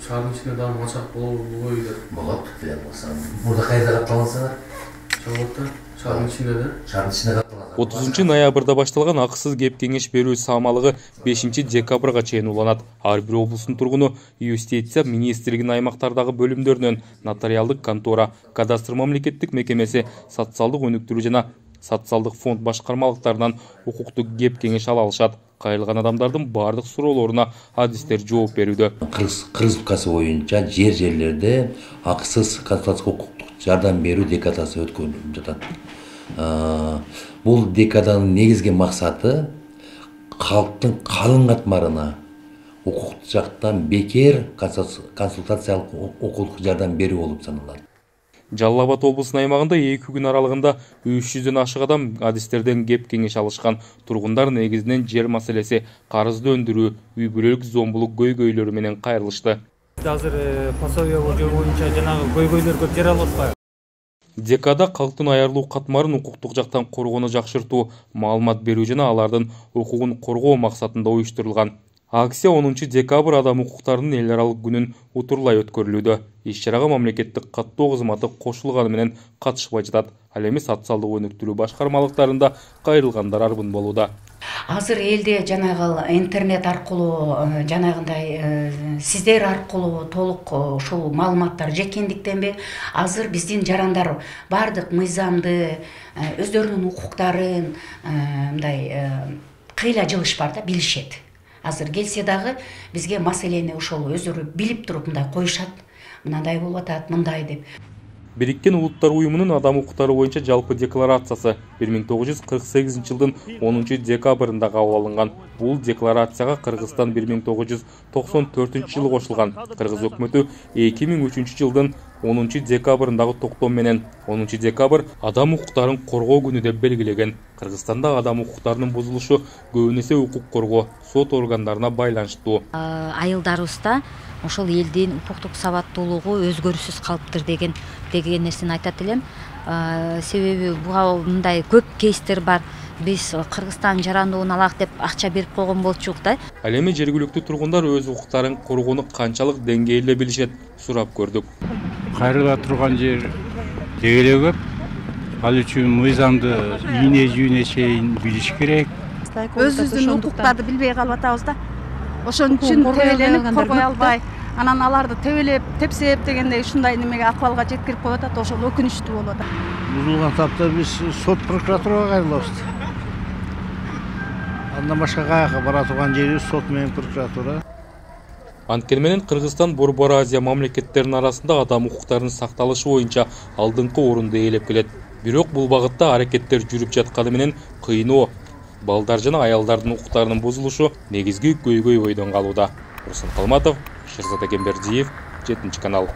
шаардын ичинде дагы мачак болобу деп. Болот, билем болсам. Мурда кайда катталгансыңар? Чалгатта, шаардын ичинде да. Шаардын ичинде катталган. 30-ноябрда башталган акысыз кеп кеңеш берүү самалыгы 5-декабрга чейин уланат. Ар бир облустун тургуну юстиция министрлигинин аймактардагы бөлүмдөрүнөн нотариалдык контора, кадастр мамлекеттик мекемеси, социалдык өнүктүрүү жана социалдык фонд башкармалыктарынан укуктук кеп кеңеш ала алышат. Кайрылган адамдардын бардык суроолоруна адистер жооп берүүдө. Кыргыз Республикасы боюнча жерлерде акысыз консультациялык укуктук жардам берүү декадасы өткөрүлүп жатат. Бул декаданын негизги максаты калктын калың катмарына укуктук жактан бекер консультациялык укуктук жардам берүү болуп саналат. Жалал Абад облусунун аймагында 2 күн аралыгында 300дөн ашык адам адистерден кеп кеңеш алышкан. Тургундар негизинен жер маселеси, карызды өндүрүү, үй бүлөлүк зомбулук көйгөйлөрү менен кайрылышты. Азыр пособие боюнча жанагы көйгөйлөр көп жер алып атпайбы? Декада калктын аярлуу катмарын укуктук жактан коргоону жакшыртуу, маалымат берүү жана алардын укугун коргоо максатында уюштурулган. Акция 10-декабрь адам укуктарынын эл аралык күнүн утурлай өткөрүлүүдө. Иш-чарага мамлекеттик каттоо кызматы кошулганы менен катышпай жатат. Ал эми социалдык өнүктүрүү башкармалыктарында кайрылгандар арбын болууда. Азыр элде жанагы интернет аркылуу жанагындай сиздер аркылуу толук ушул маалыматтар жеткендиктенби, азыр биздин жарандар бардык мыйзамды, өздөрүнүн укуктарын мындай кыйла жылыш бар да, билишет. Азыр келсе дагы бизге маселени ошол өздөрү билип туруп мындай коюшат. Мындай болуп атат, мындай деп. Бириккен Улуттар уюмунун адам укуктары боюнча жалпы декларациясы 1948-жылдын 10-декабрында кабыл алынган. Бул декларацияга Кыргызстан 1994-жылы кошулган. Кыргыз өкмөтү 2003-жылдын 10-декабрындагы токтом менен 10-декабрь адам укуктарын коргоо күнү деп белгилеген. Кыргызстанда адам укуктарынын бузулушу көбүнесе укук коргоо сот органдарына байланыштуу. Айылдарыбызда ошол элдин укуктук сабаттуулугу өзгөрүүсүз калыптыр деген нерсени айтат элем. Себеби буга мындай көп кейстер бар. Биз Кыргызстан жарандыгын алак деп акча берип койгон болчук да. Ал эми жергиликтүү тургундар өз укуктарын коргоону канчалык деңгээлде билишет сурап көрдүк. Кайрыла турган жер дегеле көп. Ал үчүн мыйзамды ийне жүйүнө чейин билиш керек. Өзүбүздүн укуктарды билбей калып атабыз да. Ошон үчүн тебеленип коргой албай, анан аларды тебелеп, тепсеп дегендей ушундай немеге акыбалга жеткирип коюп атат. Ошол өкүнүчтүү болуп атат. Бузулган тапта биз сот прокуратурага кайрылабыз. Андан башка каяка бара турган жерибиз сот менен прокуратура. Анткени менен Кыргызстан Борбор Азия мамлекеттеринин арасында адам укуктарынын сакталышы боюнча алдыңкы орунду ээлеп келет. Бирок бул багытта аракеттер жүрүп жатканы менен кыйноо, балдар жана аялдардын укуктарынын бузулушу негизги көйгөй бойдон калууда. Руслан Калматов, Шерзат Экембердиев, 7 канал.